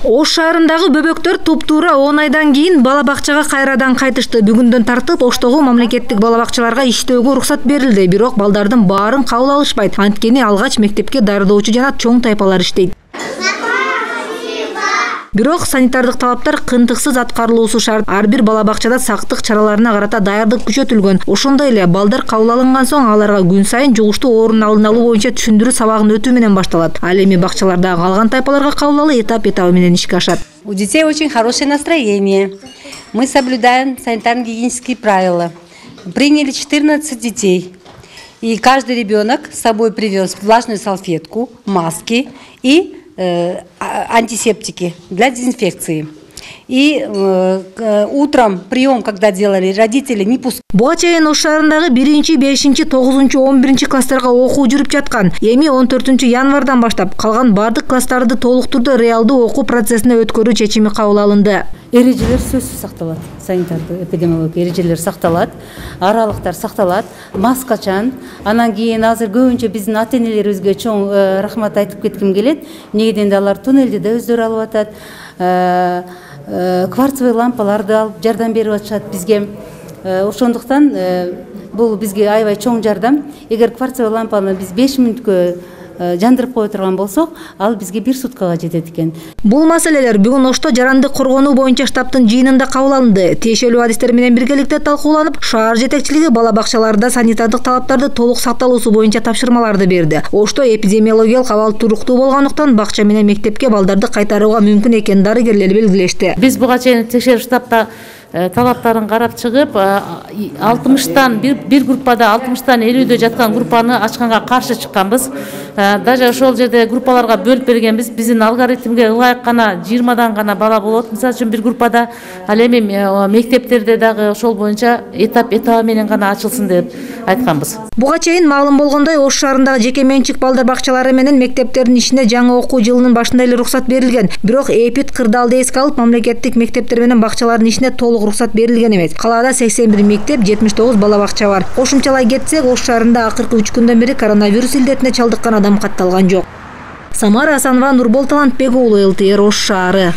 Ош шаарындагы бөбөктөр туп-туура 10 айдан кийин бала бакчага кайрадан кайтышты. Бүгүндөн тартып Оштогу мамлекеттик бала бакчаларга иштөөгө уруксат берилди. Бирок балдардын баарын кабыл алышпайт. Анткени алгач мектепке даярдоочу жана чоң тайпалар иштейт. Бирок санитардык талаптар кынтыксыз аткарылуусу шарт. Ар бир бала бакчада сактык чараларына карата даярдык күчөтүлгөн. Ошондой эле балдар кабыл алынган соң аларга күн сайын жугуштуу оорунун алдын алуу боюнча түшүндүрүү сабагын өтүү менен башталат. Ал эми бакчалардагы калган тайпаларга кабыл алуу этап-этабы менен ишке ашат. У детей очень хорошее настроение. Мы соблюдаем санитарно-гигиенические правила. Приняли 14 детей. И каждый ребенок с собой привез влажную салфетку, маски и антисептики для дезинфекции. И утром прием, когда делали, родители не пускали. Буга чейин Ош шаарындагы 1, 5, 9, 11 класстарга окуу жүрүп жаткан. Эми 14 январдан баштап калган бардык класстарды толук турда реалдуу окуу процессине өткөрүү чечими кабыл алынды. Эрежелер сөзсүз сакталат. Санитардык эпидемиологиялык эрежелер сакталат, аралыктар сакталат, маскачан. Анан кийин азыр көбүнчө биздин ата-энелерибизге чоң рахмат айтып кетким келет. Эмнеге дегенде алар туннелди да өздөрү алып атат. Кварцевый лампаларды алып жардам берип атышат бизге. Ошондуктан бул бизге аябай чоң жардам. Эгер кварцевый лампаны биз 5 мүнөткө жандырып кое турган болсок, ал бизге 1 суткага жетет экен. Бул маселелер бүгүн Ошто жарандык коргонуу боюнча штабтын жыйынында кабыл алынды. Тиешелүү адистер менен биргеликте талкууланып, шаар жетекчилиги бала бакчаларында санитардык талаптарды толук сакталуусу боюнча тапшырмаларды берди. Ошто эпидемиологиялык абал туруктуу болгондуктан бакча менен мектепке балдарды кайтарууга мүмкүн экенин дарыгерлер белгилешти. Биз буга чейин текшерүү штабта талаптарын карап чыгып, 60тан бир группада 60тан 50дө жаткан группаны ачканга каршы чыкканбыз. Даже ошол жерде группаларга бөлүп бергенбиз. Биздин алгоритмге ылайык гана 20дан гана бала болот. Мисалы үчүн бир группада, ал эми мектептерде дагы ошол боюнча этап-этабы менен гана ачылсын деп айтканбыз. Буга чейин маалым болгондой, Ош шаарындагы жеке менчик балдар бакчалары менен мектептердин ишине жаңы окуу жылынын башында эле уруксат берилген. Бирок эпид кырдаалды эске алып, мамлекеттик мектептер менен бакчалардын ишине толук уруксат берилген эмес. Калаада 81 мектеп, 79 бала бакча бар. Кошумчалай кетсек, Ош шаарында акыркы 3 күндөн бери коронавирус илдетине чалдыккан адам катталган жок. Самара Асанова, Нурбол Талантбек уулу, ЛТР, Ош шаары.